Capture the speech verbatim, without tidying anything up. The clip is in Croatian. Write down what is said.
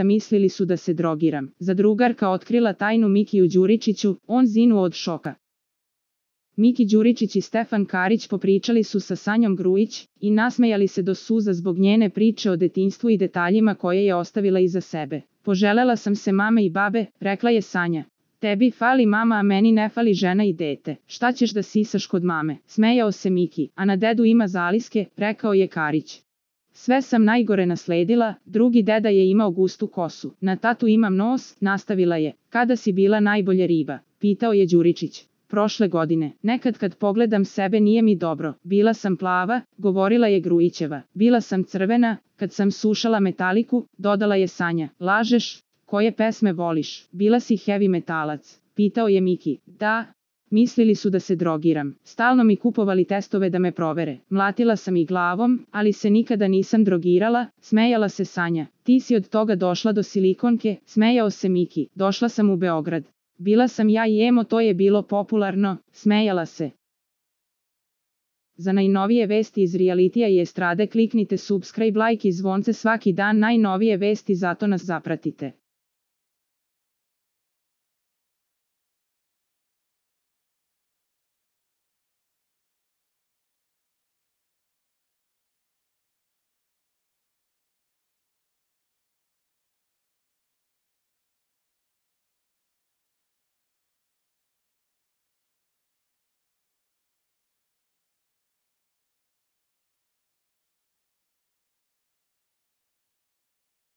mislili su da se drogiram. Zadrugarka otkrila tajnu Mikiju Đuričiću, on zinuo od šoka. Miki Đuričić i Stefan Karić popričali su sa Sanjom Grujić i nasmejali se do suza zbog njene priče o detinjstvu i detaljima koje je ostavila iza sebe. Poželela sam se mame i babe, rekla je Sanja. Tebi fali mama, a meni ne fali žena i dete. Šta ćeš da sisaš kod mame? Smejao se Miki, a na dedu ima zaliske, rekao je Karić. Sve sam najgore nasledila, drugi deda je imao gustu kosu. Na tatu imam nos, nastavila je. Kada si bila najbolje riba? Pitao je Đuričić. Prošle godine. Nekad kad pogledam sebe nije mi dobro. Bila sam plava, govorila je Grujićeva. Bila sam crvena, kad sam slušala Metaliku, dodala je Sanja. Lažeš? Koje pesme voliš? Bila si heavy metalac? Pitao je Miki. Da. Mislili su da se drogiram. Stalno mi kupovali testove da me provere. Mlatila sam ih glavom, ali se nikada nisam drogirala, smejala se Sanja. Ti si od toga došla do silikonke, smejao se Miki. Došla sam u Beograd. Bila sam ja i emo, to je bilo popularno, smejala se. Za najnovije vesti iz realitija i estrade kliknite subscribe, like i zvonce svaki dan, najnovije vesti, zato nas zapratite.